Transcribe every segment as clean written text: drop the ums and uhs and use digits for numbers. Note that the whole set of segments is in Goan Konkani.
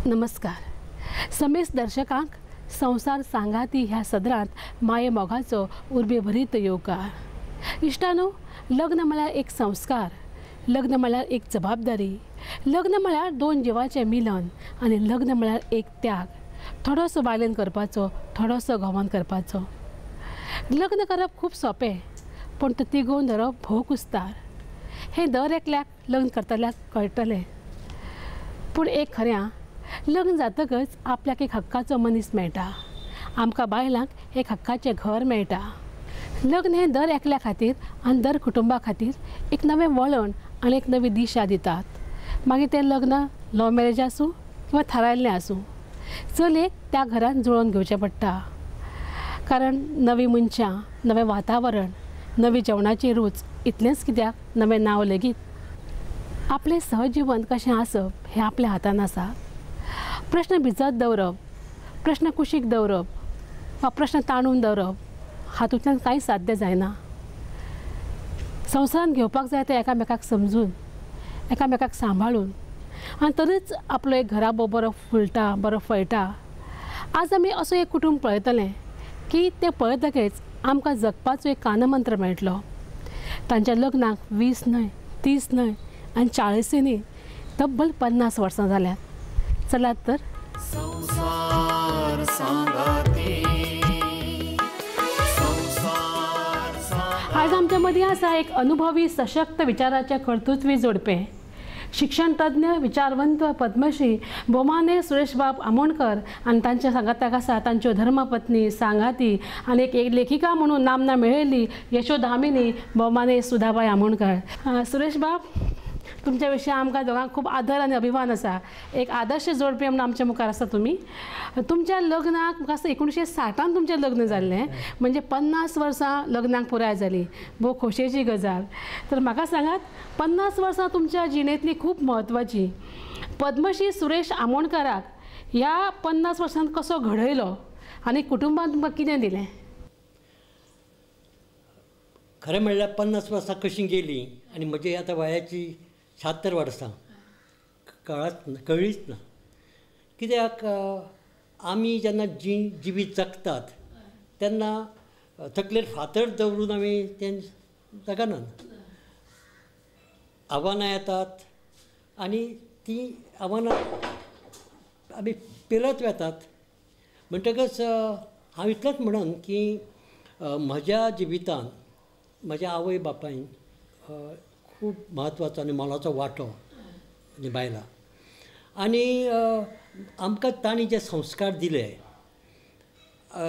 नमस्कार समेस्त दर्शकांक संवसार सांगाती ह्या सदरांत माये मोगाचो उर्बेभरीत येवकार। इश्टानो, लग्न म्हळ्यार एक संस्कार, लग्न म्हळ्यार एक जबाबदारी, लग्न म्हळ्यार दोन जिवाचें मिलन आनी लग्न म्हळ्यार एक त्याग, थोडोसो बायलेन करपाचो, थोडोसो घोवान करपाचो। लग्न करप खूब सोंपें, पूण तें तिगोवन धरप भोव कुस्तार। हें दर एकल्याक लग्न करतल्याक कळटलें। पूण एक खरें, लग्न जातकच आपल्याक एक हक्काचो मनीस मेळटा, आमकां बायलांक एक हक्काचें घर मेळटा। लग्न हें दर एकल्या खातीर आनी दर कुटुंबा खातीर एक नवें वळण आनी एक नवी दिशा दितात। मागीर तें लग्न लव मॅरेज आसूं किंवा थारायल्लें आसूं, चलयेक त्या घरान जुळोवन घेवचें पडटा। कारण नवीं मनशां, नवें वातावरण, नवी जेवणाची रूच, इतलेंच कित्याक नवें नांव लेगीत। आपलें सहजीवन कशें आसप हें आपल्या हातान आसा। प्रश्न भिजत दवरप, प्रश्न कुशीक दवरप वा प्रश्न ताणून दवरप हातूंतल्यान कांय साध्य जायना। संवसारांत घेवपाक जाय तें एकामेकाक समजून, एकामेकाक सांबाळून आनी तरीच आपलो एक घराबो बरो फुलटा, बरो फळटा। आज आमी असो एक कुटूंब पळयतलें की तें पळयतकच आमकां जगपाचो एक कानमंत्र मेळटलो। तांच्या लग्नाक 20 न्हय, 30 न्हय आनी 40 न्हय, तब्बल 50 वर्सां जाल्यात। चलात तर आज आमच्या मदीं आसा एक अनुभवी सशक्त विचाराचे कर्तृत्वी जोडपें, शिक्षण तज्ञ, विचारवंत पद्मश्री बोमाने सुरेशबाब आमोणकर आनी तांच्या सांगाताक आसा तांच्यो धर्मपत्नी, सांगाती आनी एक लेखिका म्हणून नामना मेळयल्ली यशोधामिनी बोमाने सुधाबाई आमोणकर। सुरेशबाब, तुमच्या विशीं आमकां दोगांक खूब आदर आनी अभिमान आसा। एक आदर्श जोडपें म्हणून आमच्या मुखार आसा तुमी। तुमच्या लग्नाक म्हाका दिसता 1960 तुमचें लग्न जाल्लें, म्हणजे 50 वर्सां लग्नाक पुराय जालीं। भोव खोशयेची गजाल। तर म्हाका सांगात, 50 वर्सां तुमच्या जिणेंतली खूब म्हत्वाची। पद्मश्री सुरेश आमोणकराक ह्या 50 वर्सांत कसो घडयलो आनी कुटुंबान तुमकां कितें दिलें? खरें म्हणल्यार 50 वर्सां कशीं गेलीं आनी म्हजी आतां वयाची 76 वर्सां कळ्ळीच ना। कित्याक आमी जेन्ना जिवीत जगतात तेन्ना तकलेर फातर दवरून आमी तें जगनात। आव्हानां येतात आनी तीं आव्हानां आमी पेलत वेतात। म्हणटकच हांव इतलेंच म्हणन की म्हज्या जिवितान म्हज्या आवय बापायन खूब म्हत्वाचो आनी मोलाचो वांटो निभायला आनी आमकां तांणी जे संस्कार दिले,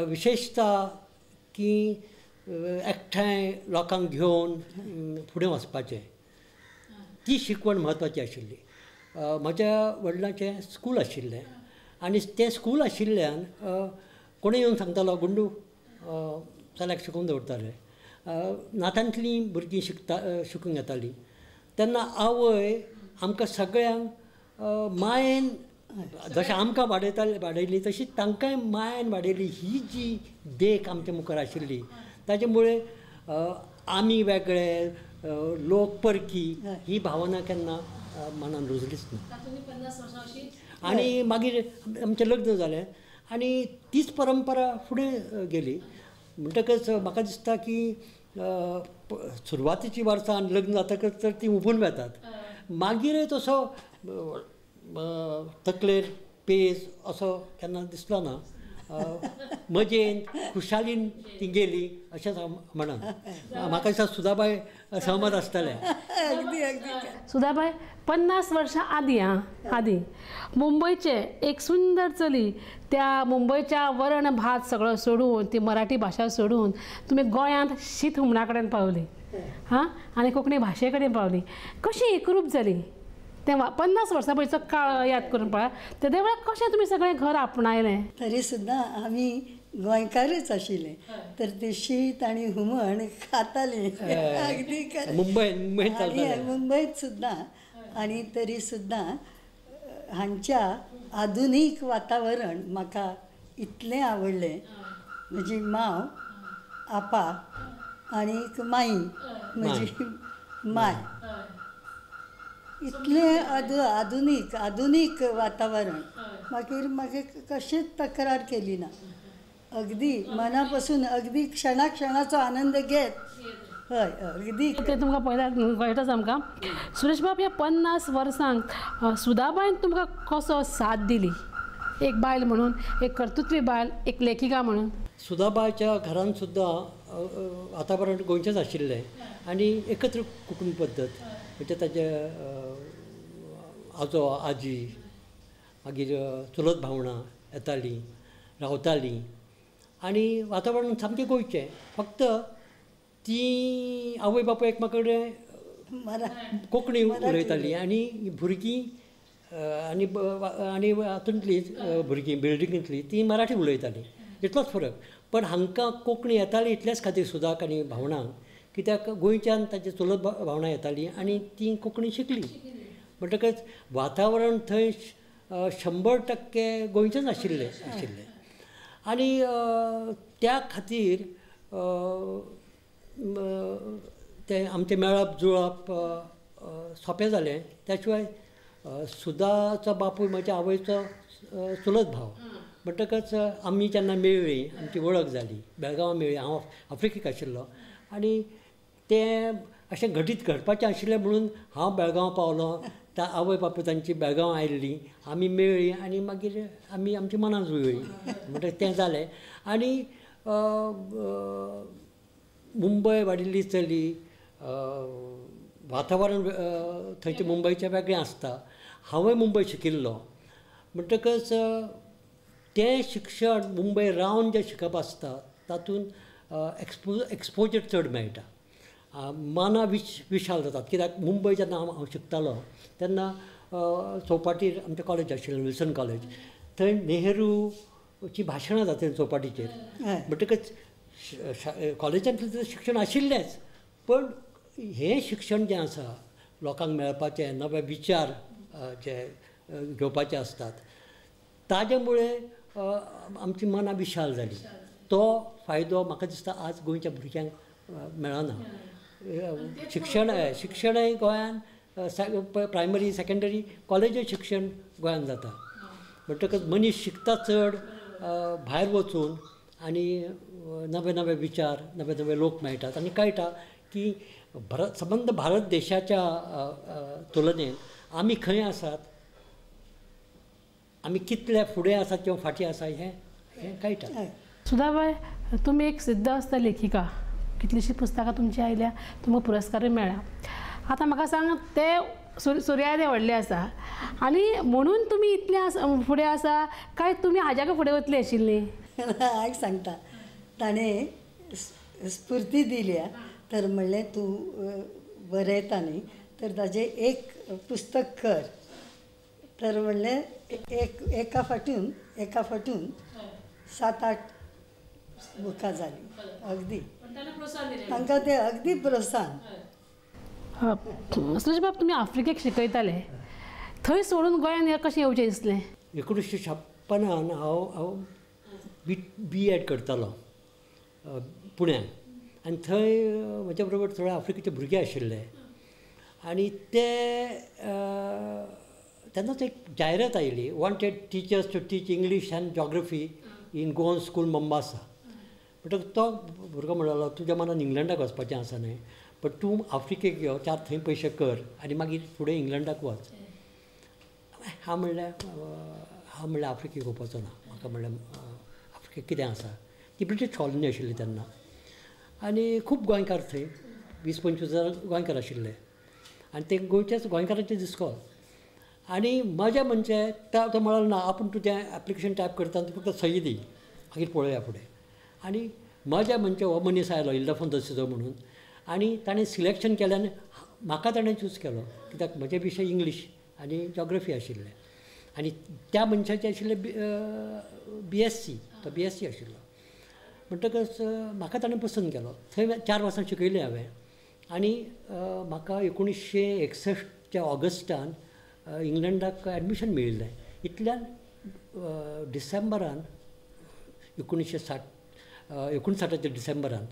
विशेशता की एकठांय लोकांक घेवन फुडें वचपाचें, ती शिकवण म्हत्वाची आशिल्ली। म्हज्या वडिलांचें स्कूल आशिल्लें आनी तें स्कूल आशिल्ल्यान कोणूय येवन सांगतालो, गुंडू चल्याक शिकोवन दवरताले। नातांतलीं भुरगीं शिकूंक येतालीं। तेन्ना आवय आमकां सगळ्यांक मायेन, जशें आमकां वाडयली तशी तांकांय मायेन वाडयली। ही जी देख आमच्या मुखार आशिल्ली ताजे मुळे आमी वेगळे, लोक परकी, ही भावना केन्ना मनान रुजलीच ना। आनी मागीर आमचें लग्न जालें आनी तीच परंपरा फुडें गेली। म्हणटकच म्हाका दिसता की सुरवातीची वर्सां आनी लग्न जातकच तर ती उबून वेतात, मागीरय तसो तकलेर पेज असो केन्ना दिसलो ना। मजेन खुशालीन ती गेली अशेंच हांव म्हणन. म्हाका दिसता सुधाबाय सहमत आसतलें. अगदी अगदी. सुधाबाय, 50 वर्सां आदीं आदीं मुंबयचें एक सुंदर चली त्या मुंबयच्या वरण भात सगळो सोडून, ती मराठी भाशा सोडून तुमी गोंयांत शीत हुमणा कडेन पावली, हां, आनी कोंकणी भाशे कडेन पावली. कशी एकरूप जाली तें 50 वर्सां पयलींचो काळ याद करून पळय, तेदे वेळार कशें तुमी सगळें घर आपणायलें? तरी सुद्दां आमी गोंयकारच आशिल्ले, तर ते शीत आनी हुमण खाताले अगदी. मुंबय मुंबयत सुद्दां. आनी तरी सुद्दां हांच्या आधुनीक वातावरण म्हाका इतलें आवडलें. म्हजी माव, आपा आनी माई, म्हजी माय, इतलें आधुनीक आधुनीक वातावरण. मागीर मागीर कशेंच तक्रार केली ना, अगदी मनापासून, अगदी क्षणा क्षणाचो आनंद घेत. हय, अगदी. तें तुमकां पळयल्यार कळटाच आमकां. सुरेश बाब, ह्या 50 वर्सांक सुधाबायन तुमकां कसो साथ दिली, एक बायल म्हणून, एक कर्तृत्वी बायल, एक लेखिका म्हणून? सुधाबायच्या घरान सुद्दां वातावरण गोंयचेंच आशिल्लें आनी एकत्र कुटुंब पद्दत, म्हणजे ताजे आजो आजी, मागीर चुलत भावणां येतालीं, रावतालीं आनी वातावरण सामकें गोंयचें. फक्त ती आवय बापूय एकमेका कडेन कोंकणी उलयताली आनी भुरगीं आनी आनी हातूंतलीं भुरगीं बिल्डिंगेंतलीं तीं मराठी उलयतालीं, इतलोच फरक. पण हांकां कोंकणी येताली इतल्याच खातीर सुदाक आनी भावणांक, कित्याक गोंयच्यान ताची चुलत भावणां येतालीं आनी तीं कोंकणी शिकलीं. म्हणटकच वातावरण थंय 100% गोंयचेंच आशिल्लें आशिल्लें आनी त्या खातीर तें आमचें मेळप जुळप सोंपें जालें. त्या शिवाय सुधाचो बापूय म्हज्या आवयचो चुलत भाव, म्हणटकच आमी जेन्ना मेळ्ळीं, आमची वळख जाली, बेळगांवां मेळ्ळी. हांव आफ्रिकेक आशिल्लो आनी तें अशें घडीत घडपाचें आशिल्लें म्हणून हांव बेळगांव पावलो. त्या आवय बापूय तांची बेळगांव आयिल्ली, आमी मेळ्ळीं आनी मागीर आमी आमची मनां जुळ्ळीं, म्हणटकच तें जालें. आनी मुंबय वाडिल्ली चली, वातावरण थंयचें मुंबयचें वेगळें आसता. हांवूय मुंबय शिकिल्लो, म्हणटकच तें शिक्षण मुंबय रावन जें शिकप आसता तातूंत एक्सपोजर चड मेळटा, मनां विशाल जातात. कित्याक मुंबय जेन्ना हांव शिकतालो तेन्ना चौपाटीर आमचें कॉलेज आशिल्लें, विल्सन कॉलेज, थंय नेहरूची भाशणां जातालीं चौपाटीचेर. म्हणटकच कॉलेजांतलें शिक्षण आशिल्लेंच, पण हें शिक्षण जें आसा लोकांक मेळपाचें, नवे विचार जे घेवपाचे आसतात, ताजे मुळे आमची मनां विशाल जाली. तो फायदो म्हाका दिसता आज गोंयच्या भुरग्यांक मेळना. शिक्षण शिक्षणय गोंयान प्रायमरी, सेकेंडरी, कॉलेजय शिक्षण गोंयान जाता. म्हणटकच मनीस शिकता चड भायर वचून आनी नवे नवे विचार, नवे नवे लोक मेळटात आनी कळटा की संबंद भारत देशाच्या तुलनेन आमी खंय आसात, आमी कितले फुडें आसात किंवा फाटीं आसा हें हें कळटा. सुधाबाय, तुमी एक सिद्ध आसता लेखिका, कितलींशीं पुस्तकां तुमची आयल्या, तुमकां पुरस्कारय मेळ्ळा. आतां म्हाका सांग, ते सुर्यादे व्हडले आसा आनी म्हणून तुमी इतले फुडें आसा काय तुमी हाज्याकूय फुडें वतली आशिल्ली? आयक सांगता, ताणें स्फुर्ती दिल्या तर म्हणलें तूं बरयता न्ही तर ताजें एक पुस्तक कर, तर म्हणलें एक एका फाटून एका फाटून 7-8 बुकां जालीं. अगदी तांकां तें अगदी प्रोत्साहन. सुरेश बाब, तुमी आफ्रिकेक शिकयताले, थंय सोडून गोंयान कशें येवचें दिसलें? 1956 हांव बी एड करतालो पुण्याक आनी थंय म्हज्या बरोबर थोडे आफ्रिकेचे भुरगे आशिल्ले आनी ते तेन्नाच एक जायरात आयली, wanted teachers to teach English and geography in Goan school Mombasa. म्हणटकच तो भुरगो म्हणलो, तुज्या मनान इंग्लंडाक वचपाचें आसा न्हय, बट तूं आफ्रिकेक यो, 4 थंय पयशे कर आनी मागीर फुडें इंग्लंडाक वच. हांव म्हणल्यार आफ्रिकेक वचपाचो ना, म्हाका म्हणल्यार कितें आसा. ती ब्रिटीश कॉलनी आशिल्ली तेन्ना आनी खूब गोंयकार थंय 20-25 हजार गोंयकार आशिल्ले आनी ते गोंयच्याच गोंयकारांचें इस्कोल. आनी मजा म्हणजे तो म्हणलो ना आपूण तुजें एप्लिकेशन टायप करता तूं फक्त सही दी मागीर पळोवया फुडें. आनी मजा म्हणजे हो मनीस आयलो इल्डफोन दसिजो म्हणून आनी ताणें सिलेक्शन केलें आनी म्हाका ताणें चूज केलो कित्याक म्हजे विशय इंग्लीश आनी जॉग्रफी आशिल्ले आनी त्या मनशाचे आशिल्ले BSc, तो BSc आशिल्लो. म्हणटकच म्हाका ताणें पसंत केलो. थंय 4 वर्सां शिकयलें हांवें आनी म्हाका 1961 ऑगस्टान इंग्लंडाक एडमिशन मेळिल्लें. इतल्यान डिसेंबरान 1959 डिसेंबरान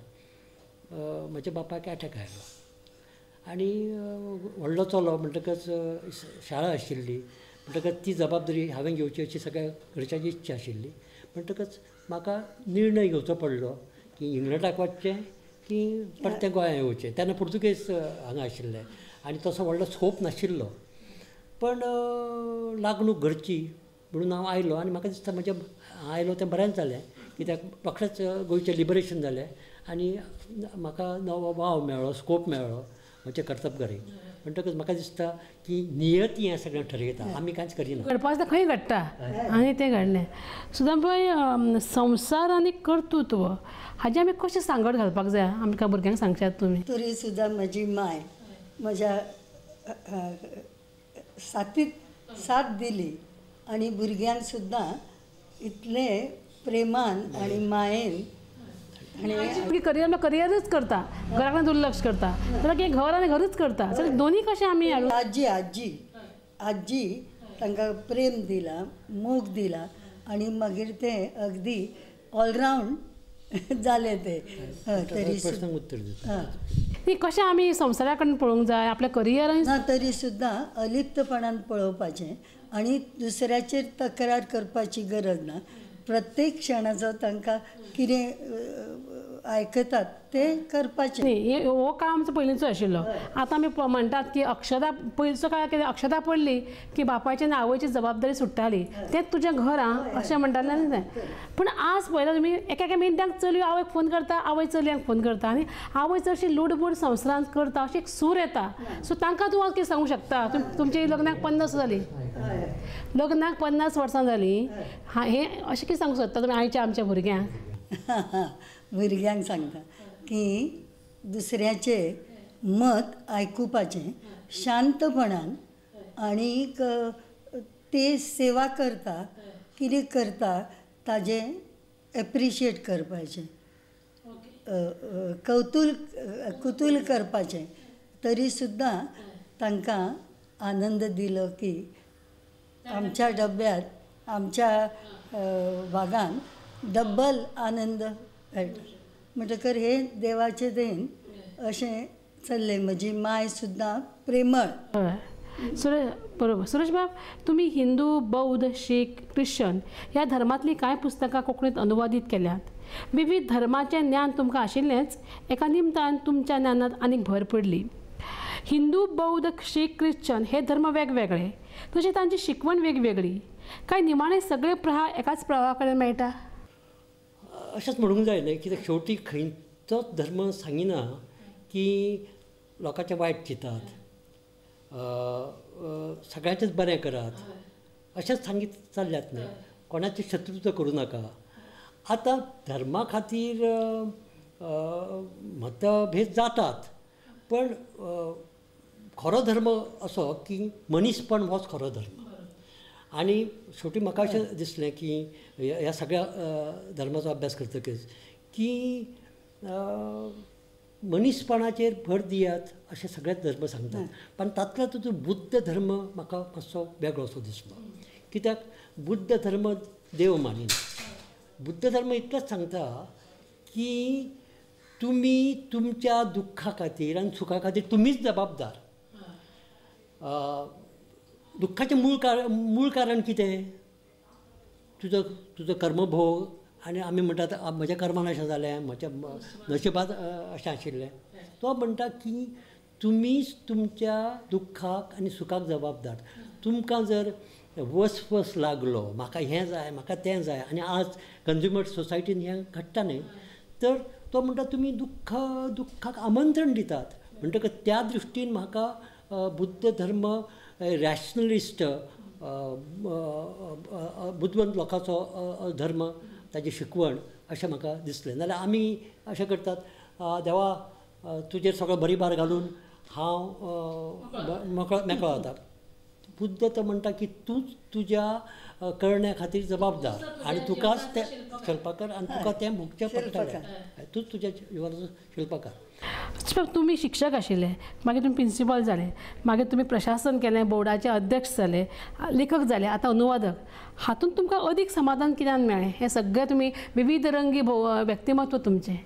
म्हज्या बापायक एटॅक आयलो आनी व्हडलो चलो म्हणटकच शाळा आशिल्ली म्हणटकच ती जबाबदारी हांवें घेवची अशी सगळ्या घरच्यांची इच्छा आशिल्ली. म्हणटकच म्हाका निर्णय घेवचो पडलो की इंग्लंडाक वचचें की परतें गोंयांत येवचें. तेन्ना पुर्तुगेज हांगा आशिल्ले आनी तसो व्हडलो स्कोप नाशिल्लो, पण लागणूक घरची म्हणून हांव आयलो आनी म्हाका दिसता म्हजें आयलो तें बरेंच जालें कित्याक रोखडेंच गोंयचें लिबरेशन जालें आनी म्हाका नवो वाव मेळ्ळो, स्कोप मेळ्ळो म्हजे कर्तबगारी. म्हणटकच म्हाका दिसता की नियती हें सगळें ठरयता, आमी कांयच करिना. घडपा आसता खंय घडटा आनी तें घडलें. सुदां पळय संवसार आनी कर्तृत्व हाजें आमी कशें सांगड घालपाक जाय आमकां भुरग्यांक सांगशात तुमी? तरी सुद्दां म्हजी माय म्हज्या साथीत साथ दिली आनी भुरग्यांक सुद्दां इतले प्रेमान आनी मायेन. आनी करियर करियरच करता, घरा कडेन दुर्लक्ष करता, जाल्यार घर आनी घरूच करता, जाल्यार दोनी कशें आमी आजी आजी आजी तांकां प्रेम दिला, मोग दिला आनी मागीर ते अगदी ऑलरावंड जाले ते. तरी ती कशें आमी संवसारा कडेन पळोवंक जाय आपल्या करियर ना तरी सुद्दां अलिप्तपणान पळोवपाचें आनी दुसऱ्याचेर तक्रार करपाची गरज ना. प्रत्येक क्षणाचो तांकां कितें आयकतात ते करपाचें. न्ही, हो काळ आमचो पयलींचो आशिल्लो. आतां आमी म्हणटात की अक्षता पयलींचो काळ कितें अक्षता पडली की बापायची आनी आवयची जबाबदारी सुट्टाली, तेंच तुजें घर आं अशें म्हणटालें न्ही तें. पूण आज पळयता तुमी एका एका मिनटाक चलयो आवयक फोन करता, आवय चलयांक फोन करता आनी आवय चडशी लुडबूड संवसारांत करता अशी एक सूर येता. सो तांकां तूं कितें सांगूंक शकता? तुमची लग्नाक 50 जाली, लग्नाक 50 वर्सां जालीं, हें अशें कितें सांगूंक सोदता तुमी आयच्या आमच्या भुरग्यांक? भुरग्यांक सांगता की दुसऱ्याचें मत आयकुपाचें शांतपणान आनीक ते सेवा करता कितें करता ताजें एप्रिशिएट करपाचें, कुतूल करपाचें. तरी सुद्दां तांकां आनंद दिलो की आमच्या डब्यांत आमच्या भागान डब्बल आनंद मेळटा. म्हणटकर हे देवाचें देन अशें चल्लें. म्हजी माय सुद्दां प्रेमळ. बरोबर. सुरेश बाब, तुमी हिंदू, बौद्ध, शीख, क्रिश्चन ह्या धर्मांतलीं कांय पुस्तकां कोंकणींत अनुवादीत केल्यांत. विविध धर्माचें ज्ञान तुमकां आशिल्लेंच, एका निमतान तुमच्या ज्ञानांत आनीक भर पडली. हिंदू, बौद्ध, शीख, क्रिश्चन हे धर्म वेगवेगळे, तशें तांची शिकवण वेगवेगळी. काय निमाणे सगळे प्रवाह एकाच प्रवाहा कडेन मेळटा अशेंच म्हणूंक जाय न्हय? कित्याक शेवटी खंयचोच धर्म सांगिना की लोकांचें वायट चिंतात, सगळ्यांचेंच बरें करात अशेंच सांगीत चल्ल्यात न्हय. कोणाचें शत्रुत्व करूं नाका. आतां धर्मा खातीर मतभेद जातात, पण खरो धर्म असो की मनीसपण होच खरो धर्म. आनी शेवटी म्हाका अशें दिसलें की ह्या सगळ्या धर्माचो अभ्यास करतकच की मनीसपणाचेर भर दियात अशें सगळेच धर्म सांगतात, पण तातूंतलो तुजो बुद्ध धर्म म्हाका मातसो वेगळो असो दिसलो. कित्याक बुद्ध धर्म देव मानिना. बुद्ध धर्म इतलेंच सांगता की तुमी तुमच्या दुख्खा खातीर आनी सुखा खातीर तुमीच जबाबदार. दुख्खाचें मूळ कारण कितें? तुजो तुजो कर्मभोग. आनी आमी म्हणटात म्हज्या कर्मान अशें जालें, म्हज्या नशिबांत अशें आशिल्लें. तो म्हणटा की तुमीच तुमच्या दुख्खाक आनी सुखाक जबाबदार. तुमकां जर वसवस लागलो म्हाका हें जाय म्हाका तें जाय, आनी आज कंज्युमर सोसायटीन हें घडटा न्ही. तर तो म्हणटा तुमी दुख्खाक आमंत्रण दितात. म्हणटकच त्या दृश्टीन म्हाका बुद्ध धर्म रॅशनलिस्ट बुदवंत लोकांचो धर्म, ताजी शिकवण अशें म्हाका दिसलें. नाजाल्यार आमी अशें करतात, देवा तुजेर सगळो बरी भार घालून हांव मेकळो जाता. बुद्ध तो म्हणटा की तूंच तुज्या करण्या खातीर जबाबदार आनी तुकाच तें शिल्पकार आनी तुका तें भोगचें पडटलें, तूंच तुज्या जिवनाचो शिल्पकार. तुमी शिक्षक आशिल्ले, मागीर तुमी प्रिंसिपल जाले, मागीर तुमी प्रशासन केलें, बोर्डाचे अध्यक्ष जाले, लेखक जाले, आतां अनुवादक. हातूंत तुमकां अदीक समाधान कित्यान मेळ्ळें? हें सगळें तुमी विविध रंगी व्यक्तिमत्व तुमचें.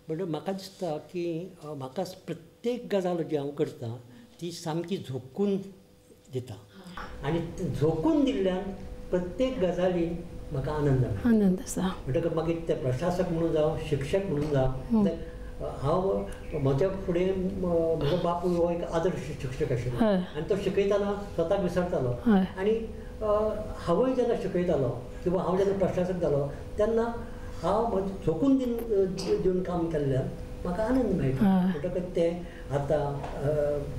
बट म्हाका दिसता की म्हाका प्रत्येक गजाल जी हांव करतां ती सामकी झोकून दिता आनी झोकून दिल्ल्यान प्रत्येक गजालीन म्हाका आनंद मेळटा. आनंद आसा. म्हणटकच मागीर ते प्रशासक म्हणून जावं, शिक्षक म्हणून जावं, हांव म्हज्या फुडें म्हजो बापूय हो एक आदर्श शिक्षक आशिल्लो आनी तो शिकयतना स्वताक विसरतालो आनी हांवूय जेन्ना शिकयतालो किंवा हांव जेन्ना प्रशासक जालो तेन्ना हांव म्हजें झोकून दिवन काम केल्ल्यान म्हाका आनंद मेळटा. म्हणटकच तें आतां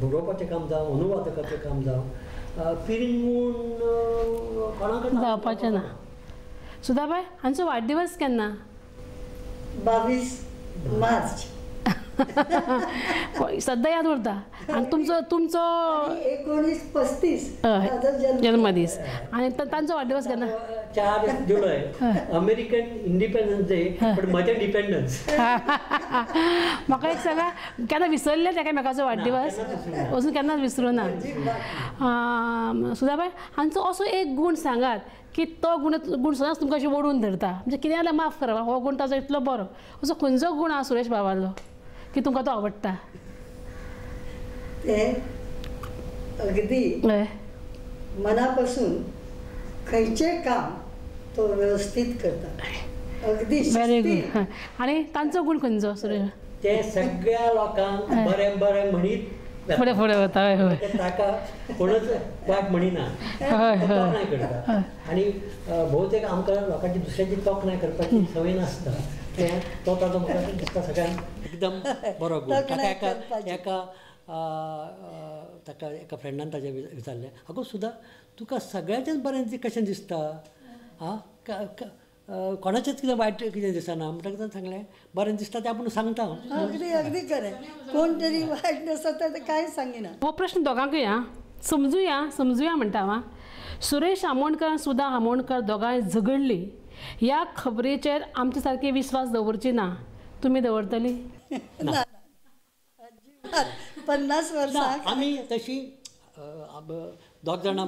बरोवपाचें काम जावं, अनुवादकाचें काम जावं, पिरिंगून कोणाक जावपाचें ना. सुधाबाय, हांचो वाडदिवस केन्ना? 22 मार्च. सद्दां याद उरता. आनी तुमचो तुमचो 1935 जल्मदीस. आनी तांचो वाडदिवस केन्ना? 4 जुलय, अमेरिकन इंडिपेंडन्स डे, पण म्हजें डिपेंडन्स. म्हाका एक सांगा, केन्ना विसरले एकामेकाचो वाडदिवस? अजून केन्नाच विसरूं ना. सुधाबाय, हांचो असो एक गूण सांगात की तो गुण गुण सदांच तुमकां अशें ओडून धरता, म्हणजे कितें जाल्यार माफ करा, हो गूण ताजो इतलो बरो, असो खंयचो गूण आसा सुरेश बाबालो की तुमकां तो आवडटा? ते अगदी मनापासून खंयचें काम तो व्यवस्थीत करता, अगदी. Very good. आनी तांचो गूण खंयचो सुरेश? ते सगळ्या लोकांक बरें बरें म्हणीत फुडें फुडें वता. हय, ताका कोणच वायट म्हणिना, तोखणाय करता. आनी भोवतेक आमकां लोकांची दुसऱ्यांची तोखणाय करपाची संवय नासता, तें तो ताजो म्हाका दिसता सगळ्यांक एकदम बरो गूण. ताका एका एका ताका एका फ्रेंडान ताजें विचारलें, आगो सुद्दां तुका सगळ्याचेंच बरें कशें दिसता, आं कोणाचेंच कितें वायट कितें दिसना? म्हणटकच ताणें सांगलें, बरें दिसता तें आपूण सांगता. अगदी अगदी खरें, कोण तरी वायट नासता तें कांय सांगिना. हो प्रश्न दोगांकूय आं, समजुया समजुया म्हणटा हांव. सुरेश आमोणकर आनी सुधा आमोणकर दोगांय झगडली ह्या खबरेचेर आमचे सारकी विस्वास दवरची ना, तुमी दवरतली? ना, 50 वर्सां आमी तशी दोग जाणां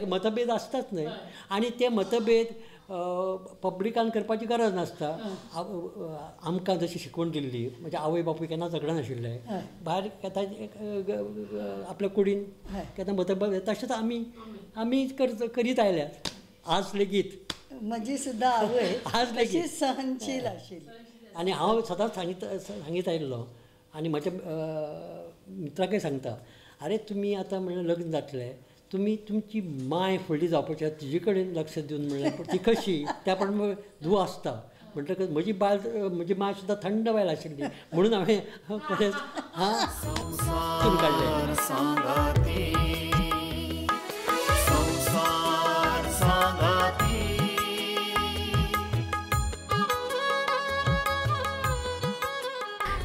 मतभेद आसताच न्हय, आनी ते मतभेद पब्लिकान करपाची गरज नासता. आमकां जशी शिकवण दिल्ली, म्हणजे आवय बापूय केन्ना झगडनाशिल्ले, भायर केन्ना आपल्या कुडीन केन्ना मतभेद, तशेंच आमी आमी करीत आयल्यात आज लेगीत. म्हजी सुद्दां आवय आज लेगीत सहनशील आशिल्ली आनी हांव सदांच सांगीत आयिल्लो आनी म्हज्या मित्राकय सांगता, आरे तुमी आतां म्हणल्यार लग्न जातले, तुमी तुमची माय फुडली जावपाची आसा तिजे कडेन लक्ष दिवन म्हणल्यार ती कशी त्या प्रमाणे धूव आसता. म्हणटकच म्हजी बायल, म्हजी माय सुद्दां थंड बायल आशिल्ली म्हणून हांवें बरेंच हां काडलें.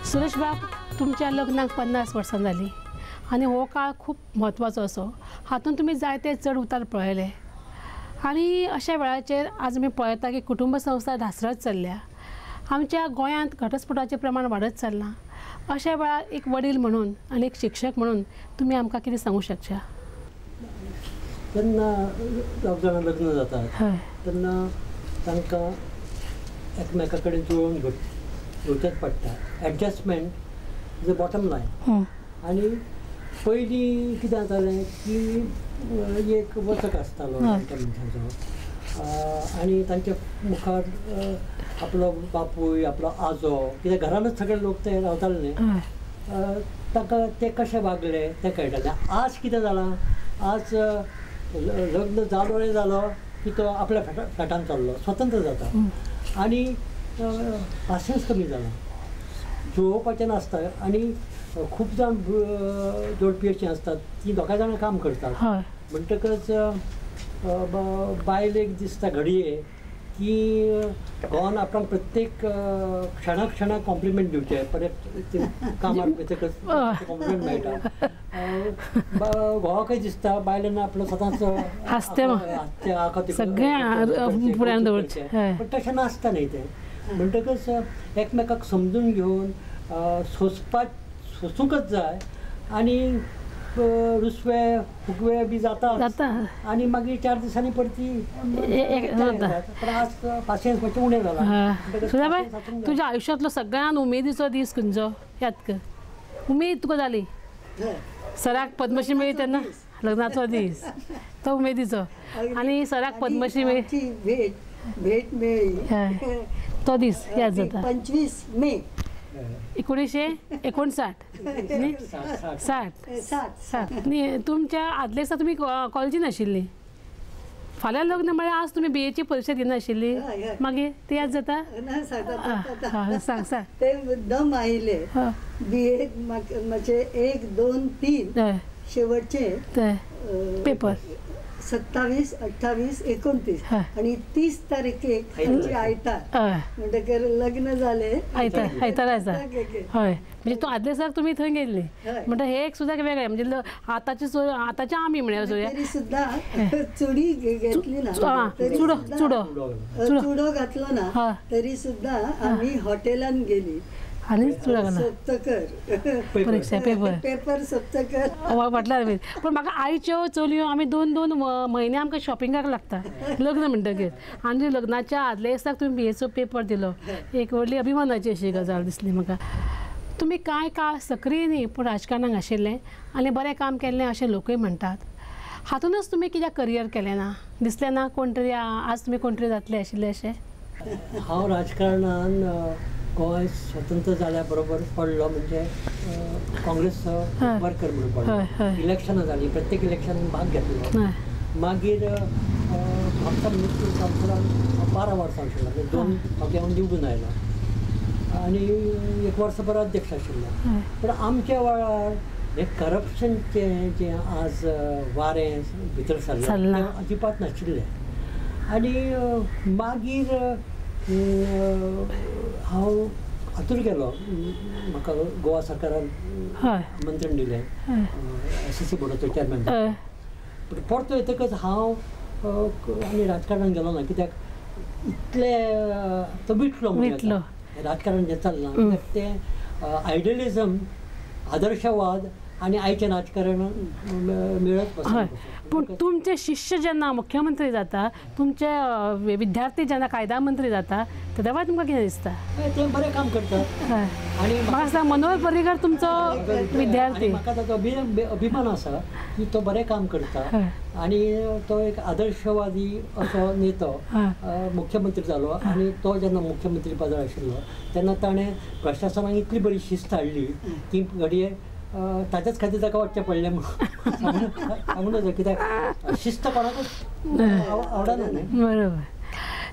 सुरेश बाब, तुमच्या लग्नाक 50 वर्सां जालीं आनी हो काळ खूब म्हत्वाचो असो, हातूंत तुमी जायते चड उतार पळयले आनी अशा वेळाचेर आज आमी पळयता की कुटुंब संस्था ढासरत चल्ल्या, आमच्या गोंयांत घटस्फोटाचें प्रमाण वाडत चल्लां. अशा वेळार एक वडील म्हणून आनी एक शिक्षक म्हणून तुमी आमकां कितें सांगूंक शकता? जेन्ना दोग जाणां लग्न जातात तेन्ना तांकां एकमेका कडेन जुळोवन घेवचेंच पडटा. Adjustment is a bottom line. आनी पयलीं कितें जातालें की एक वचक आसतालो त्या मनशाचो आनी तांच्या मुखार आपलो बापूय, आपलो आजो, कित्याक घरानच सगळे लोक ते रावताले न्ही, तांकां ते कशे वागले तें कळटालें. आज कितें जालां, आज लग्न जालो रे जालो की तो आपल्या फ्लॅटान चल्लो, स्वतंत्र जाता. आनी पासियेंस कमी जालां, जुळोवपाचें नासता. आनी खूब जाण जोडपी अशीं आसतात ती दोगां जाणां काम करतात, म्हणटकच बायलेक दिसता घडये की घोवान आपणाक प्रत्येक क्षणा क्षणाक कॉम्प्लिमेंट दिवचें, परत कामार वतकच कॉम्प्लिमेंट मेळटा. घोवाकय दिसता बायलेन आपलो सदांच सगळें, पण तशें नासता न्ही तें. म्हणटकच एकमेकाक समजून घेवन सोंसपाक सोंसूंकच जाय आनी रुसवे फुगवे बी जाता आनी मागीर 4 दिसांनी परती. पण आज पासियेंस मातशें उणें जालां. सुधाबाय, तुज्या आयुश्यांतलो सगळ्यान उमेदीचो दीस खंयचो याद कर? उमेद तुका जाली सराक पद्मश्री मेळ्ळी तेन्ना, लग्नाचो दीस तो उमेदीचो, आनी सराक पद्मश्री मेळ्ळी, भेट भेट मेळ्ळी तो दीस याद जाता. 25 मे 1959 60 न्ही. तुमच्या आदले दिसा तुमी कॉलेजीन आशिल्ली, फाल्यां लग्न म्हळ्यार आज तुमी बीएची परिक्षा दिनाशिल्ली, मागीर ते याद जाता? सांग सांग. ते मुद्दम आयले बीए म्हजे 1 2 3 शेवटचे पेपर 27 28 29 आणि 30 तारखेक आयतार, म्हणटकर लग्न जालें आयतार, आयतार आसा. हय, म्हणजे तूं आदले दिसाक तुमी थंय गेल्ली, म्हणटा हे एक सुद्दां वेगळें. म्हणजे आतांचे आतांचे आमी म्हळ्यार तरी सुद्दां चुडी घेतली ना, चुडो चुडो चुडो घातलो ना, तरी सुद्दां आमी हॉटेलान गेली आनी चुडो घालो सोंपतकर परिक्षा पेपर पेपर सोंपतकर वाटल्यार. पूण म्हाका आयच्यो चलयो आमी 2 2 म्हयने आमकां शॉपिंगाक लागता लग्न म्हणटकीर, आनी लग्नाच्या आदल्या दिसाक तुमी बीएचो पेपर दिलो, एक व्हडली अभिमानाची अशी गजाल दिसली म्हाका. तुमी कांय काळ सक्रीय न्ही पूण राजकारणाक आशिल्लें आनी बरें काम केल्लें अशें लोकूय म्हणटात, हातूनच तुमी कित्याक करियर केलें ना? दिसलें ना कोण तरी आज तुमी कोण तरी जातले आशिल्ले अशें? हांव राजकारणान गोंय स्वतंत्र जाल्या बरोबर पडलो, म्हणजे काँग्रेस वर्कर म्हणून पडलो. इलेक्शनां जालीं, प्रत्येक इलेक्शनान भाग घेतलो. मागीर म्हापसा म्युनिसिपल कावन्सिलान 12 वर्सां आशिल्लो, म्हणजे 2 फावटी हांव निवडून आयलो आनी 1 वर्सभर अध्यक्ष आशिल्लो. पूण आमच्या वेळार हें करप्शनचें जें आज वारें भितर सरलें तें अजिबात नाशिल्लें. आनी मागीर हांव हातूर गेलो, म्हाका गोवा सरकारान आमंत्रण दिलें एसएससी बोर्डाचो चॅरमॅन. पूण परतो येतकच हांव आनी राजकारणान गेलो ना, कित्याक इतले तो विटलो, म्हणजे राजकारण जें चल्लां कित्याक तें आयडियलिजम, आदर्शवाद आनी आयचें राजकारण मेळत बसना. पूण तुमचे शिष्य जेन्ना मुख्यमंत्री जाता, तुमचे विद्यार्थी जेन्ना कायदा मंत्री जाता, तेन्ना वेळार तुमकां कितें दिसता? ते बरें काम करतात. आनी म्हाका दिसता मनोहर पर्रीकर तुमचो विद्यार्थी, म्हाका ताचो अभिमान आसा की तो बरें काम करता आनी तो एक आदर्शवादी असो नेतो मुख्यमंत्री जालो. आनी तो जेन्ना मुख्यमंत्री पदार आशिल्लो तेन्ना ताणें प्रशासनाक इतली बरी शिस्त हाडली की घडये ताच्याच खातीर ताका वचचें पडलें म्हणून सांगूं नजो, कित्याक शिस्त कोणाकूच आवडना न्ही. बरोबर.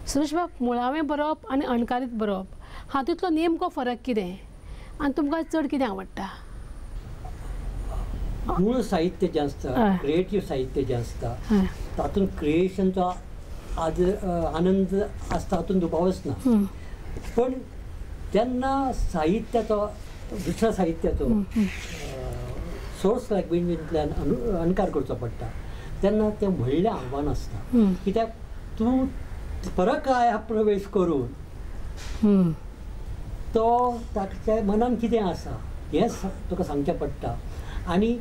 सुरेश बाब, मुळावें बरोवप आनी अणकारीत बरोवप हातूंतलो नेमको फरक कितें आनी तुमकां चड कितें आवडटा? मूळ साहित्य जें आसता, क्रिएटीव साहित्य जें आसता, तातूंत क्रिएशनचो आनंद आसता, हातूंत दुबावच ना. पण जेन्ना साहित्याचो दुसऱ्या साहित्याचो सोर्स लँग्वेजींतल्यान अणकार करचो पडटा तेन्ना तें व्हडलें आव्हान आसता, कित्याक तूं परकाय प्रवेश करून तो ताच्या मनान कितें आसा हें तुका सांगचें पडटा. आनी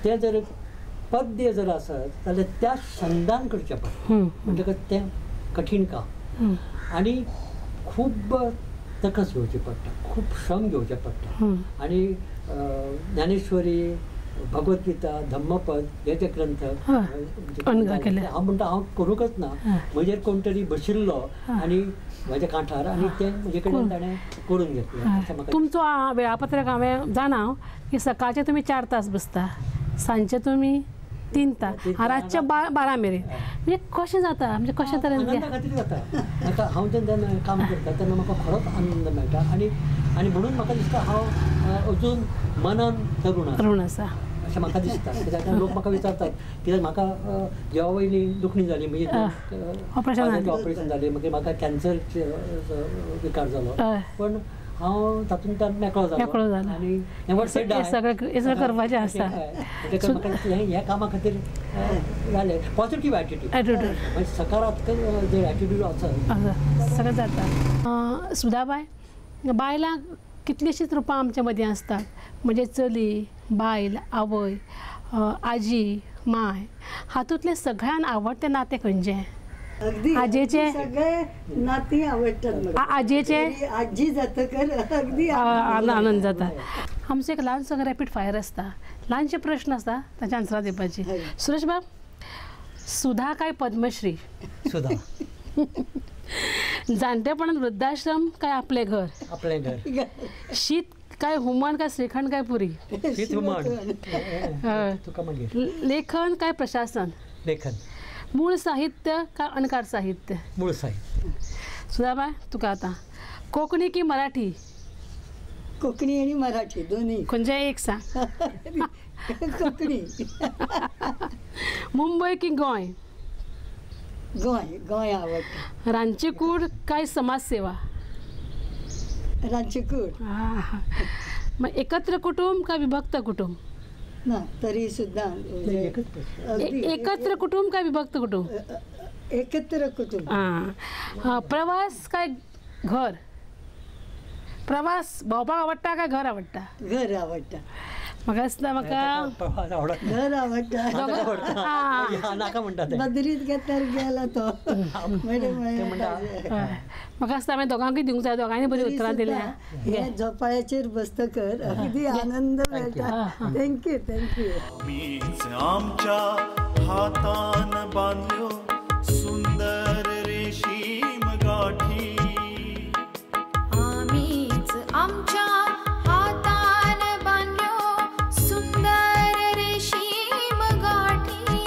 तें जर पद्य जर आसत जाल्यार त्या छंदान करचें पडटा, म्हणटकच तें कठीण काम आनी खूब तकस घेवची पडटा, खूब श्रम घेवचे पडटा. आनी ज्ञानेश्वरी, भगवद्गीता, धम्मपद हे जे ग्रंथ हांव म्हणटा हांव करूंकच ना, म्हजेर कोण तरी बशिल्लो आनी म्हज्या कांठार आनी तें म्हजे कडेन ताणें करून घेतलें. तुमचो वेळापत्रक हांवें जाणा की सकाळचे तुमी 4 तास बसता, सांजचे तुमी 3 तास रातच्या 12 मेरेन. म्हणजे कशें जाता, म्हणजे कशें तरेन आनंदा खातीर जाता. म्हाका हांव जेन्ना काम करता तेन्ना म्हाका खरोच आनंद मेळटा आनी आनी म्हणून म्हाका दिसता हांव अजून मनान तरूण तरूण आसा अशें म्हाका दिसता. कित्याक लोक म्हाका विचारतात कित्याक म्हाका देवा वयली दुखणी जाली, म्हणजे ऑपरेशन जालें, मागीर म्हाका कॅन्सर विकार जालो, पण हांव तातूंतल्यान मेकळो जालो आनी सगळें करपाचें आसा. म्हाका ह्या कामा खातीर जालें पॉझिटीव एटिट्यूड, म्हणजे सकारात्मक जे एटिट्यूड आसा सगळें जाता. सुधाबाय, बायलांक कितलींशींच रुपां आमच्या मदीं आसतात, म्हणजे चली, बायल, आवय, आजी, माय, हातूंतलें सगळ्यान आवडटें नातें खंयचें? अगदी आजेचे सगळे नातीं आवडटात. आजेचे आजी जातकर अगदी आनंद जाता. आमचो एक ल्हानसो रॅपीड फायर आसता, ल्हानशे प्रश्न आसता ताचे आन्सरां दिवपाची. सुरेश बाब, सुधा काय पद्मश्री? सुधा. जाणटेपणान वृद्धाश्रम काय आपलें घर? आपलें घर. शीत काय हुमण काय श्रीखंड काय पुरी? शीत हुमण. तुका मागीर. लेखन काय प्रशासन? लेखन. मूळ साहित्य काय अणकार साहित्य? मूळ साहित्य. सुधाबाय, तुका आतां कोंकणी की मराठी? कोंकणी आनी मराठी दोन्ही. खंयचें एक सांग. कोंकणी. मुंबय की गोंय? गोंय. गोंय आवडटा. रांदची कूड काय समाजसेवा? रांदची कूड. मग एकत्र कुटुंब काय विभक्त कुटुंब? ना तरी सुद्धा एकत्र कुटुंब काय विभक्त कुटुंब? एकत्र कुटुंब. हां. प्रवास काय घर? प्रवास भोंवपाक आवडटा काय घर आवडटा? घर आवडटा. म्हाका दिसता म्हाका घर आवडटा. नाका म्हणटा बदरीत घेतल्यार गेला तो. म्हाका दिसता हांवें दोगांकूय दिवंक जाय, दोगांनी बरी उतरां दिल्या. हे झोपाळ्याचेर बसतकर अगदी आनंद मेळटा. Thank you thank you. मीच आमच्या हातान बांदल्यो सुंदर रेशीम गाठी, आमीच आमच्या हातान बांदल्यो सुंदर रेशीम गाठी,